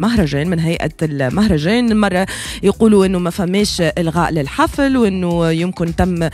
مهرجان من هيئة المهرجان. مرة يقولوا انه ما فماش الغاء للحفل وانه يمكن تم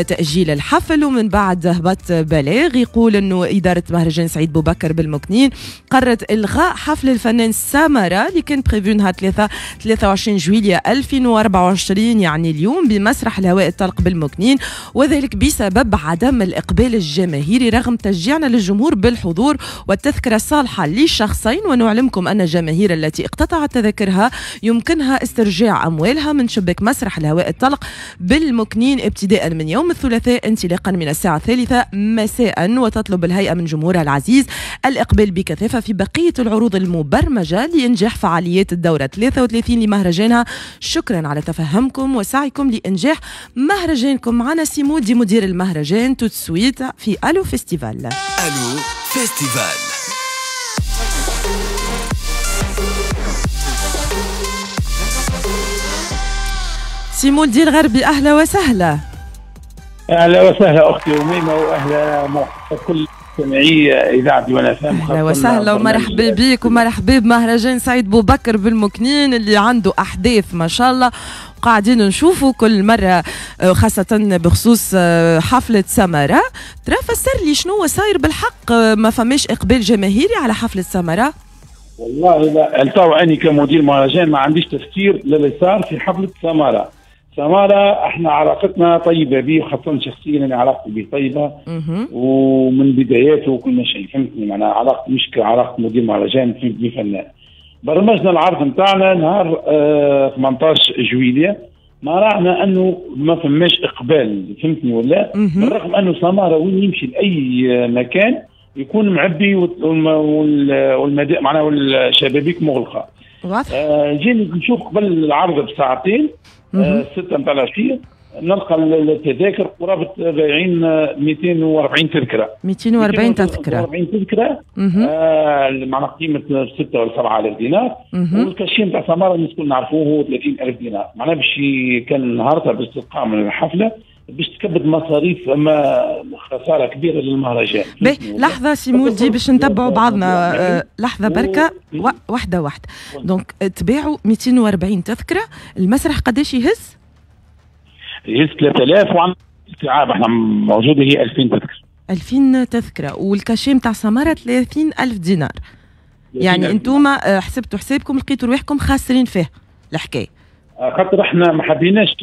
تأجيل الحفل، ومن بعد هبط بلاغ يقول انه إدارة مهرجان سعيد بوبكر بالمكنين قررت الغاء حفل الفنان سامارا اللي كان prévu نهار 23 جويلية 2024 يعني اليوم بمسرح الهواء الطلق بالمكنين، وذلك بسبب عدم الإقبال الجماهيري رغم تشجيعنا للجمهور بالحضور والتذكرة الصالحة لشخصين. ونعلمكم أن الجماهير التي اقتطعت تذاكرها يمكنها استرجاع أموالها من شباك مسرح الهواء الطلق بالمكنين ابتداء من يوم الثلاثاء انطلاقا من الساعة 3 مساء. وتطلب الهيئة من جمهورها العزيز الإقبال بكثافة في بقية العروض المبرمجة لإنجاح فعاليات الدورة 33 لمهرجانها. شكرا على تفهمكم وسعيكم لإنجاح مهرجانكم. معنا سي مولدي مدير المهرجان tout de suite في ألو فيستيفال. ألو فيستيفال. سي مولدي الغربي، اهلا وسهلا. اهلا وسهلا اختي اميمة، واهلا مرحبا كل مستمعي اذاعة ديوان FM. اهلا وسهلا ومرحبا بك ومرحبا بمهرجان سعيد بوبكر بالمكنين اللي عنده احداث ما شاء الله قاعدين نشوفوا كل مرة، خاصة بخصوص حفلة سمرة. ترى فسر لي شنو صاير بالحق، ما فماش اقبال جماهيري على حفلة سمرة؟ والله لا، التو اني كمدير مهرجان ما عنديش تفسير للي صار في حفلة سمرة. سمارة احنا علاقتنا طيبة به، وخاصة شخصيا انا علاقتي به طيبة ومن بداياته وكل شيء، فهمتني؟ معناها علاقتي مش كعلاقه مدير مهرجان فهمتني فنان. برمجنا العرض نتاعنا نهار 18 جويلية، ما راعنا انه ما فماش اقبال، فهمتني ولا؟ بالرغم انه سمارة وين يمشي لاي مكان يكون معبي والمدى معناها والشبابيك مغلقة. جينا نشوف قبل العرض بساعتين 6 نتاع العشية نلقى التذاكر قرابة بايعين 240 تذكره. 240 تذكره. 240 تذكره معناها قيمة 6 ولا 7000 دينار. وال cachet نتاع سماره الناس الكل نعرفوه هو 30000 دينار، معناها باش كان نهارتها باش تقام الحفلة باش تكبد مصاريف، اما خسارة كبيرة للمهرجان. باهي لحظة سي مولدي باش نتبعوا بعضنا، لحظة بركة واحدة واحدة. donc تباعوا 240 تذكره، المسرح قداش يهز؟ يهز 3000، وعندنا استيعاب احنا موجودة هي 2000 تذكره. 2000 تذكره، وال cachet نتاع سماره 30000 دينار. يعني انتم حسبتوا حسابكم لقيتوا رواحكم خاسرين فيه الحكاية. خاطر احنا ما حبيناش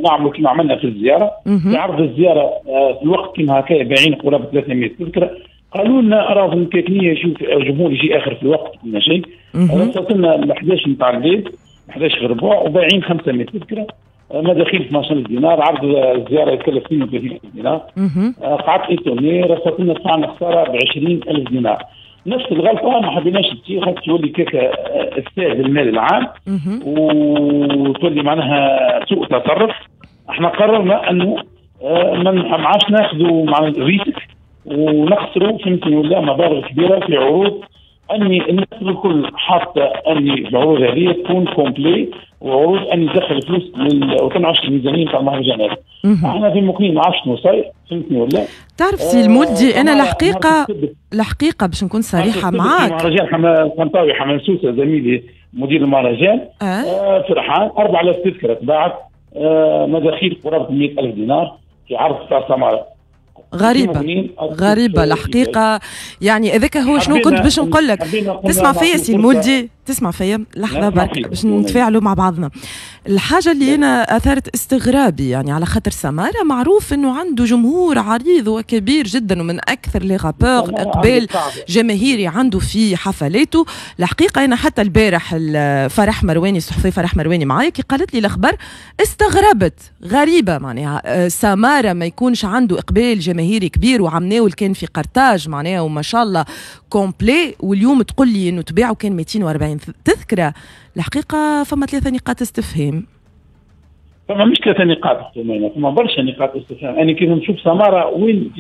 نعملوا كما عملنا في الزيارة. في عرض الزيارة في الوقت كما هكا بايعين قرابة 300 تذكره، قالوا لنا راهو المكاكنيه يجوا الجمهور يجي اخر في الوقت كل شيء. وصلت لنا 11 نتاع الليل 11 غير ربع وبايعين 500 تذكره، مداخيل 12000 دينار، عرض الزيارة يتكلف 32000 دينار. قعدت étonné، رصت لنا دفعنا خسارة ب 20000 دينار. نفس الغلطة ما حبيناش تصير، خاطر تولي كيكة افساد المال العام وتولي معناها سوء تصرف. احنا قررنا انه ما عادش ناخذوا معناها risque ونخسروا، فهمتني ولا، مبالغ كبيرة في عروض اني الناس الكل حاطه اني العروض هذه تكون complet، وعروض اني تدخل فلوس وتنعش الميزانية نتاع المهرجانات. احنا في المقيم ما عرفش شنو صاير، فهمتني ولا؟ تعرف سي المولدي، انا الحقيقة باش نكون صريحه معاك، مهرجان حمطاوي حمام سوسة زميلي مدير المهرجان فرحان 4000 تذكره تباعت، مداخيل قرابة 100000 دينار في عرض تاع سماره. غريبة غريبة الحقيقة، يعني هذاك هو شنو كنت باش نقول لك. تسمع فيا سي المولدي؟ تسمع فيا؟ لحظة برك باش نتفاعلوا مع بعضنا. الحاجة اللي أنا أثارت استغرابي يعني على خاطر سمارة معروف أنه عنده جمهور عريض وكبير جدا ومن أكثر les rappeurs إقبال جماهيري عنده في حفلاته. الحقيقة أنا حتى البارح فرح مرواني الصحفي فرح مرواني معايا كي قالت لي الأخبار استغربت، غريبة معناها سمارة ما يكونش عنده إقبال جماهيري كبير، وعمناول كان في قرطاج معناها وما شاء الله complet، واليوم تقول لي انه تباعوا كان 240 تذكره. الحقيقة فما 3 نقاط استفهام. فما مش 3 نقاط، فما برشا نقاط استفهام. انا كيف نشوف سماره وين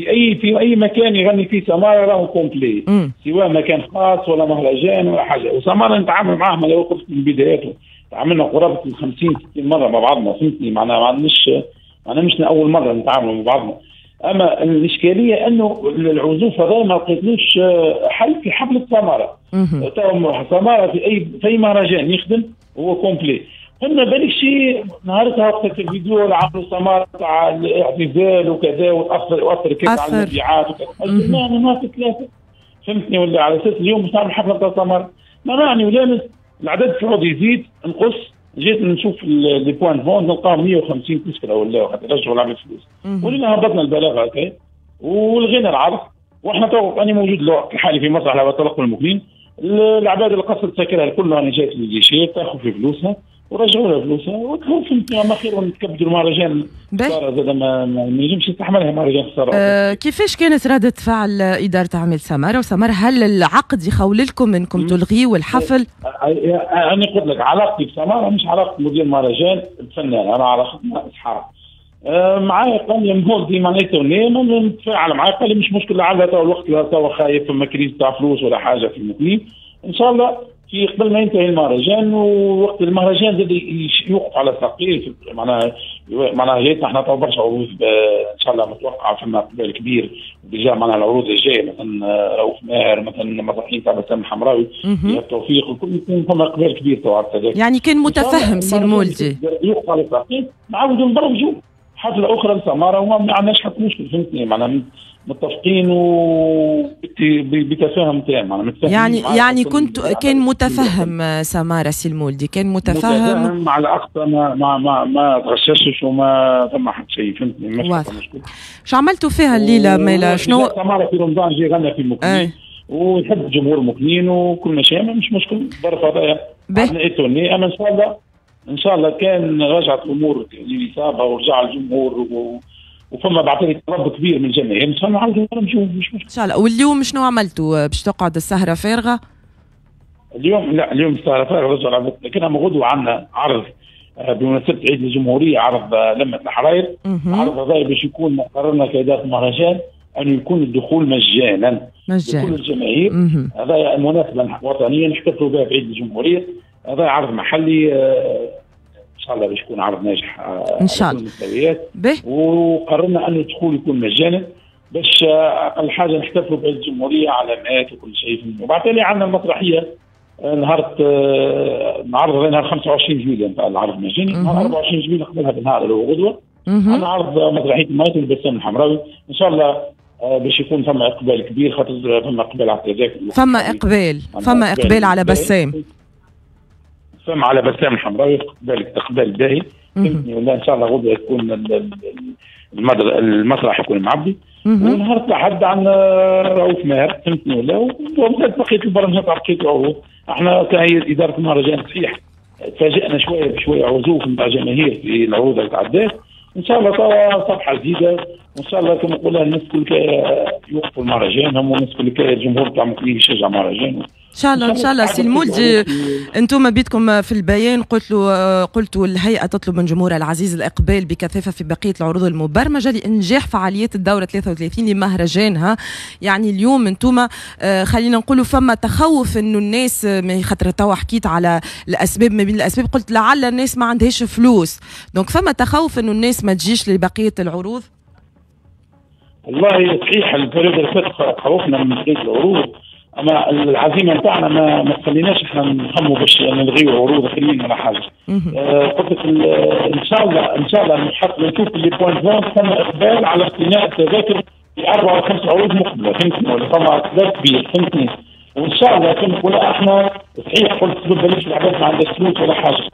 في اي مكان يغني فيه سماره راهو complet، سواء مكان خاص ولا مهرجان ولا حاجة. وسماره نتعامل معاه ما لو قلت من بداياته، تعاملنا قرابة 50 60 مرة مع بعضنا، فهمتني؟ معناها مش اول مرة نتعامل مع بعضنا. اما الاشكالية انه العزوف هذا ما لقيتلوش حل في حفلة سماره. سماره في اي مهرجان يخدم هو complet. قلنا بالك شيء نهارتها وقت الفيديو عملوا سماره تاع الاعتزال وكذا واثر كذا على المبيعات وكذا. نهار ثلاثة فهمتني ولا على اساس اليوم باش نعمل حفلة تاع سماره ما معني ولا العدد في عوض يزيد نقص. جيت نشوف les points de vente نلقاهم 150 تذكره ولا خاطر رجعوا العباد فلوس. ولينا هبطنا البلاغ هكا ولغينا العرض. واحنا تو انا موجود الوقت الحالي في مسرح على تلقوا المكنين. العباد اللي قصت ساكنها الكل راني جات لل guichet تاخذ في فلوسها ورجعوا لها فلوسها وفهمتني ما خير نتكبدوا المهرجان خسارة زاد ما نجمش يستحملها مهرجان خسارة. كيفاش كانت ردة فعل إدارة أعمال سمارة وسمارة؟ هل العقد يخول لكم انكم تلغيوا الحفل؟ أنا قلت لك علاقتي بسمارة مش علاقة مدير مهرجان الفنان، أنا علاقتنا أصحاب. معايا قال لي مولدي معناتها نتفاعل معايا، قال لي مش مشكل لعل تو الوقت تو خايف فما crise تاع فلوس ولا حاجة في المكنين. إن شاء الله في قبل ما ينتهي المهرجان ووقت المهرجان زاد يوقف على ساقيه معناها جايتنا احنا تو برشا عروض ان شاء الله متوقعه فما اقبال كبير déjà معناها العروض الجاية مثلا رؤوف ماهر مثلا مسرحيين تاع بسام الحمراوي التوفيق الكل يكون فما اقبال كبير تو يعني كان متفهم سي المولدي يوقف على ساقيه نعاودوا نبرمجوا حفلة اخرى لسماره وما عندناش حتى مشكل فهمتني معناها متفقين وبتفاهم تام. يعني كنت كان متفهم سماره سي المولدي كان متفهم على اقصى ما ما ما, ما تغششش وما ثم حتى شيء فهمتني. واضح. شو عملتوا فيها الليلة مالا شنو؟ سماره في رمضان جي غنى في المكنين ويحب جمهور المكنين وكل شيء مش مشكل الظرف هذايا عندنا. اما ان شاء الله كان رجعت الامور لنصابها ورجع الجمهور وفما بعث طلب كبير من الجماهير ان شاء الله نعاودوا نمشيو مش مشكل ان شاء الله. واليوم شنو عملتوا باش تقعد السهرة فارغة؟ اليوم لا اليوم السهرة فارغة رجع، لكن غدوه عندنا عرض بمناسبة عيد الجمهورية، عرض لمه الحراير. العرض هذا باش يكون قررنا كادارة المهرجان انه يكون الدخول مجانا لكل الجماهير. هذا مناسبة وطنية نحتفلوا بها بعيد الجمهورية. هذا عرض محلي ان شاء الله باش يكون عرض ناجح ان شاء الله. وقررنا ان الدخول يكون مجانا باش اقل حاجة نحتفلوا بعيد الجمهورية علامات وكل شيء. وبعد تالي عندنا المسرحية نهار نعرض نهار 25 جويلية نتاع العرض المجاني، نهار 24 جويلية قبلها بنهار اللي هو غدوه عندنا عرض مسرحية المايت والبسام الحمراوي. ان شاء الله باش يكون فما اقبال كبير خاطر فما اقبال على التذاكر، فما اقبال على بسام، فما على بسام الحمراوي اقبال باهي فهمتني. ولا ان شاء الله غدوه يكون المسرح يكون معبي. ونهار الاحد عندنا رؤوف ماهر فهمتني ولا، ومازالت بقية البرامج تاع بقية العروض. احنا كهيئة ادارة المهرجان صحيح تفاجئنا شوية بشوية عزوف نتاع جماهير في العروض اللي تعدات. ان شاء الله توا صفحة جديدة وان شاء الله كما نقولها الناس الكل يوقفوا المهرجان، هم الناس الكل الجمهور تاع مكنين يشجع المهرجان ان شاء الله. ان شاء الله سي المولدي انتم بيتكم في البيان قلتوا الهيئة تطلب من جمهورها العزيز الاقبال بكثافة في بقية العروض المبرمجه لانجاح فعاليات الدورة 33 لمهرجانها. يعني اليوم انتم خلينا نقولوا فما تخوف انه الناس، خاطر توا حكيت على الاسباب، ما بين الاسباب قلت لعل الناس ما عندهاش فلوس، donc فما تخوف انه الناس ما تجيش لبقية العروض. والله صحيح ال période اللي فاتت خوفنا من بقية العروض، اما العزيمة نتاعنا ما تخليناش احنا نخموا باش نلغيو عروض اخرين ولا حاجة. قلت لك ان شاء الله ان شاء الله نحط نشوف les points de vente ثم اقبال على اقتناء التذاكر في 4 أو 5 عروض مقبله فهمتني، ولا فما اقبال كبير فهمتني. وان شاء الله كما نقول احنا صحيح قلت بلاش العباد ما عندهاش فلوس ولا حاجة،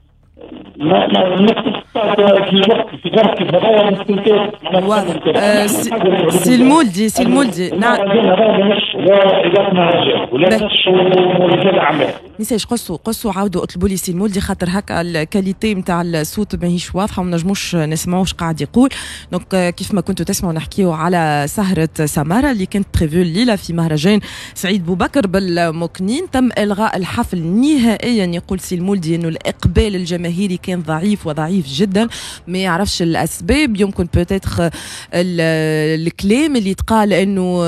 ما في الوقت في ظرف هذايا سي المولدي، سي المولدي نعم لا ادارة مهرجان ولا نش رجال اعمال. ميساج قصوا عاودوا اطلبوا لي سي المولدي خاطر هكا ال qualité نتاع الصوت ماهيش واضحة وما نجموش نسمعوا واش قاعد يقول. donc كيف ما كنتوا تسمعوا نحكيو على سهره سماره اللي كانت prévue الليلة في مهرجان سعيد بوبكر بالمكنين. تم الغاء الحفل نهائيا. يقول سي المولدي انه الاقبال الجماهيري كان ضعيف وضعيف جدا. جدا، ما يعرفش الاسباب، يمكن peut-être الكلام اللي تقال انه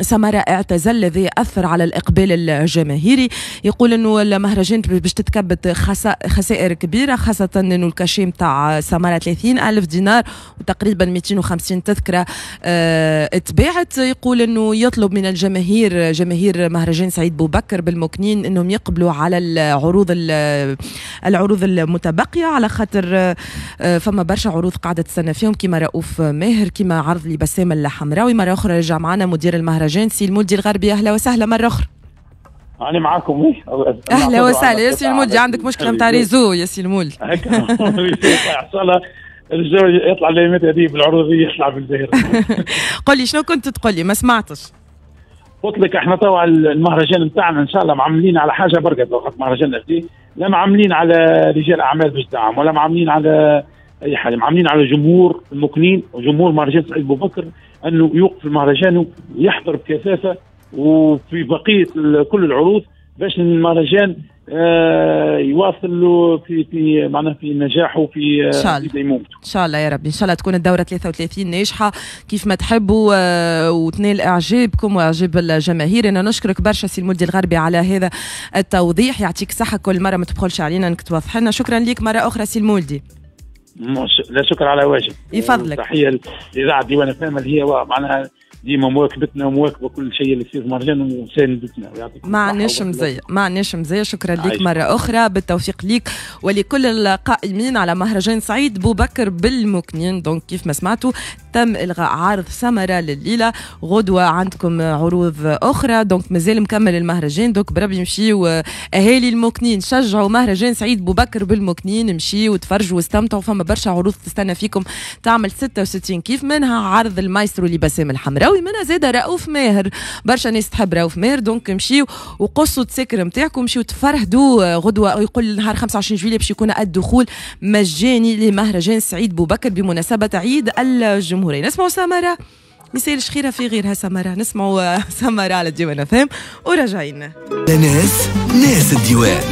سمرة اعتزل الذي اثر على الاقبال الجماهيري. يقول انه المهرجان باش تتكبد خسائر كبيره، خاصة انه ال cachet نتاع سمرة 30 الف دينار وتقريبا 250 تذكره اتباعت. يقول انه يطلب من الجماهير، جماهير مهرجان سعيد بوبكر بالمكنين، انهم يقبلوا على العروض المتبقية، على خاطر فما برشا عروض قاعدة تستنى فيهم، كما رؤوف ماهر، كما عرض لبسام الحمراوي. مرة اخرى رجع معنا مدير المهرجان سي المولدي الغربي، اهلا وسهلا مرة اخرى. أنا معاكم. اهلا وسهلا يا سي المولدي، عندك مشكلة نتاع réseau يا سي المولدي؟ هكا الجو يطلع الايامات هذه بالعروض يطلع بالظاهر. قل لي شنو كنت تقول لي، ما سمعتش. قلت لك احنا توا المهرجان نتاعنا ان شاء الله معملين على حاجة بركة، وقت مهرجان هذه لا معملين على رجال اعمال باش دعم، ولا معملين على اي حاجة، معملين على جمهور المكنين وجمهور مهرجان سعيد بوبكر انه يوقف المهرجان ويحضر بكثافة وفي بقية كل العروض باش المهرجان يواصل في معناها في نجاحه في ديمومته. ان شاء الله يا ربي، ان شاء الله تكون الدورة 33 ناجحة كيف ما تحبوا وتنال اعجابكم واعجاب الجماهير. انا نشكرك برشا سي المولدي الغربي على هذا التوضيح، يعطيك صحة، كل مرة ما تبخلش علينا انك توضح لنا. شكرا لك مرة اخرى سي المولدي. لا شكر على واجب. يفضلك. تحية لاذاعة ديوان فام اللي هي معناها ديما مواكبتنا ومواكبه كل شيء اللي يصير في المهرجان ومساندتنا. ما عندناش مزية، ما عندناش مزية. شكرا لك مرة اخرى، بالتوفيق ليك ولكل القائمين على مهرجان سعيد بوبكر بالمكنين. donc كيف ما سمعتوا تم الغاء عرض سمرة لليلة، غدوه عندكم عروض اخرى، donc مازال مكمل المهرجان. donc بربي مشيو اهالي المكنين، شجعوا مهرجان سعيد بوبكر بالمكنين، مشيو وتفرجوا واستمتعوا، فما برشا عروض تستنى فيكم تعمل 66 كيف، منها عرض المايسترو لبسام الحمراوي، منها زاد رؤوف ماهر، برشا ناس تحب رؤوف ماهر. donc مشيو وقصوا التساكر نتاعكم، مشيو تفرهدوا. غدوه يقول نهار 25 جويلية باش يكون الدخول مجاني لمهرجان سعيد بوبكر بمناسبة عيد الجمهورية. نسمعوا سمرة، مثال خيرها في غيرها سمرة، نسمعوا سمرة على ديوان فهم وراجعين. ناس الديوان.